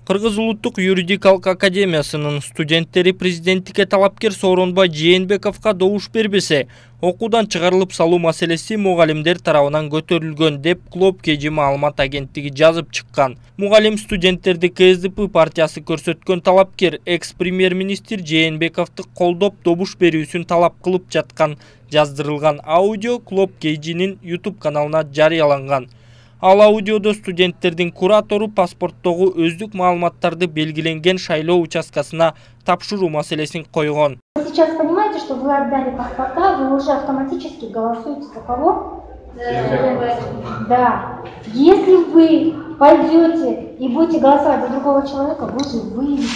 Кыргыз улуттук юридикалык академиясынын студенттери президенттикке талапкер Сооронбай Жээнбековго добуш бербесе, окуудан чыгарылып салуу маселеси мугалимдер тарабынан көтөрүлгөн деп Клоп KG маалымат агенттиги жазып чыккан. Мугалим студенттерди КСДП партиясы көрсөткөн талапкер экс-премьер-министр Жээнбековду колдоп добуш берүүсүн талап кылып жаткан жаздырылган аудио Клоп KG'нин YouTube каналына жарыяланган. Ал аудиодо студенттердин куратору паспорттогу өздүк маалыматтарды белгиленген шайлоо участкасына тапшыруу маселесин койгон. Вы сейчас понимаете, что вы отдали паспорта, вы уже автоматически голосуете за кого? Да. Если вы пойдете и будете голосовать за другого человека, вы же выйдете.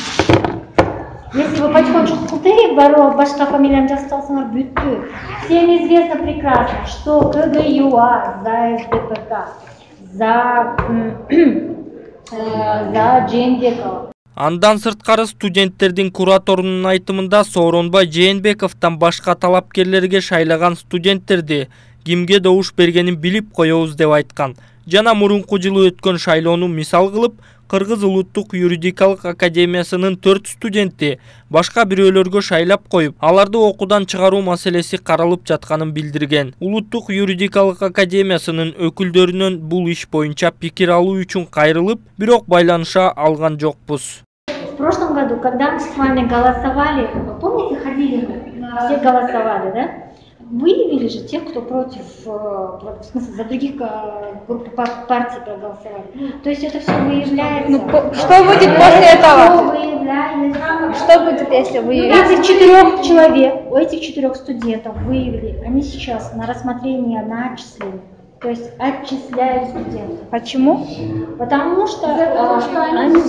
Если вы потихонечку кутырып барып башка фамилияны жазып салсаңар бүттү. Всем известно прекрасно, что КГЮА за СДПК, за Жээнбекова. Андан сырткары студенттердин кураторунун айтымында Сооронбай Жээнбековдон башка талапкерлерге шайлаган студенттерди кимге добуш бергенин билип коебуз деп айткан. Жана мурунку жылы өткөн шайлоону мисал кылып, Кыргыз улуттук юридикалык академиясынын 4 студенти башка бирөөлөргө шайлап коюп, аларды окуудан чыгаруу маселеси каралып жатканын билдирген. Улуттук юридикалык академиясынын өкүлдөрүнөн бул иш боюнча пикир алуу үчүн кайрылып, бирок байланыша алган жокпуз. В прошлом году, когда мы с вами голосовали, помните, ходили, все голосовали, да? Выявили же тех, кто против, в смысле, за других групп партий проголосовали. То есть это все выявляется. Ну, что будет после этого? Выявляется. Что будет, если выявить? Этих 4 человек, у этих 4 студентов выявили, они сейчас на рассмотрение на отчисление. То есть отчисляют студентов. Почему? Потому что они...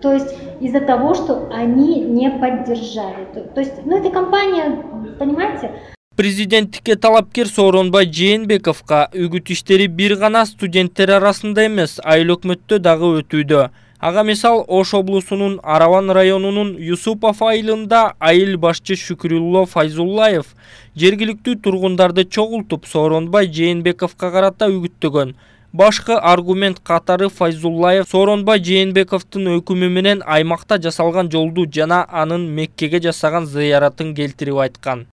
То есть из-за того, что они не поддержали. То есть, ну это компания, понимаете? Президенттикке талапкер Сооронбай Жээнбековго үгүт иштери бир гана студенттер арасында эмес, айыл өкмөттө дагы өтүүдө. Ага мисал Ош облусунун Араван районунун Юсупов айылында айыл башчы Шүкүрүлло Файзуллаев жергиликтүү тургундарды чогултуп Сооронбай Жээнбековго карата үгүттөгөн. Башкы аргумент катары Файзуллаев Сооронбай Жээнбековдун өкүмү менен аймакта жасалган жолду жана анын Меккеге жасаган зыяратын келтирип айткан.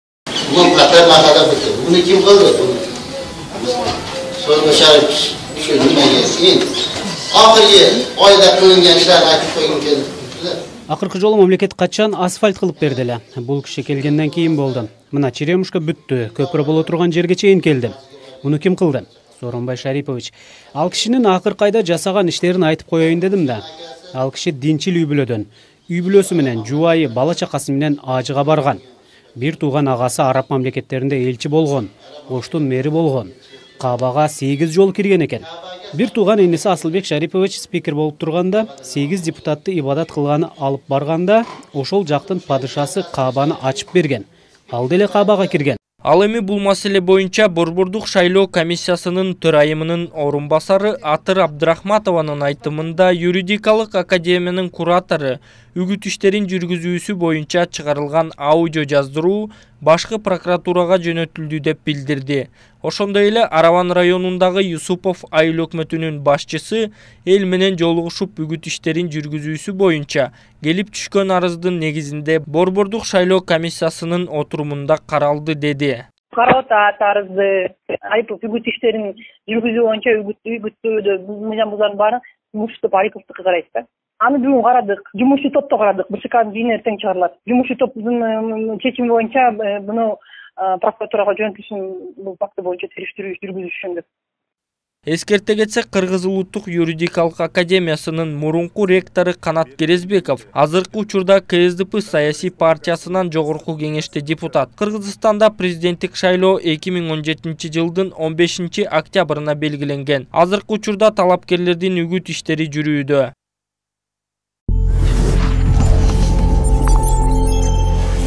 Акыркы жолу мамлекет качан асфальт кылып берди эле. Бул киши келгенден кийин болду. Мына черемушка бүттү, көпүрө боло турган жерге чейин келди. Муну ким кылды? Сооронбай Шарипович. Ал кишинин акыркы айда жасаган иштерин айтып коеюн дедим да. Ал киши динчил үй бүлөдөн. Үй бүлөсү менен жубайы, бала чакасы менен ажыга барган. Бир тууган агасы араб мамлекеттеринде элчи болгон, Оштун мэри болгон. Кабага 8 жолу кирген экен. Бир тууган иниси Асылбек Шарипович спикер болуп турганда, 8 депутатты ибадат кылганы алып барганда, ошол жактын падышасы Кабаны ачып берген. Ал деле Кабага кирген. Ал эми бул маселе боюнча Борбордук шайлоо комиссиясынын төрайымынын орун басары Атыр Абдрахматованын айтымында юридикалык академиянын куратору үгүт иштерин жүргүзүүсү боюнча чыгарылган аудио жаздыруу башкы прокуратурага жөнөтүлдү деп билдирди. Ошондой эле Араван районундагы Юсупов айыл өкмөтүнүн башчысы эл менен жолугушуп үгүт иштерин жүргүзүүсү боюнча келип түшкөн арыздын негизинде Борбордук шайлоо комиссиясынын отурумунда каралды деди. Карап атат арызды, Айыпов үгүт иштерин жүргүзүү боюнча үгүттөөдө мыйзам баарын Муштоп Айыповдуку карайт да. Аны бүгүн карадык, жумушчу топто карадык. БШКнын бийин эртең чыгарылат. Жумушчу топтун чечими боюнча буну прокуратурага жөнөтүлүшүн бул факты боюнча териштирүү жүргүзүшүн деп. Эскерте кетсек, Кыргыз улуттук юридикалык академиясынын мурунку ректору Канат Керезбеков азыркы учурда КСДП саясий партиясынан жогорку кеңеште депутат. Кыргызстанда президенттик шайлоо 2017 жылдын 15 октябрына белгиленген. Азыркы учурда талапкерлердин үгүт иштери жүрүүдө.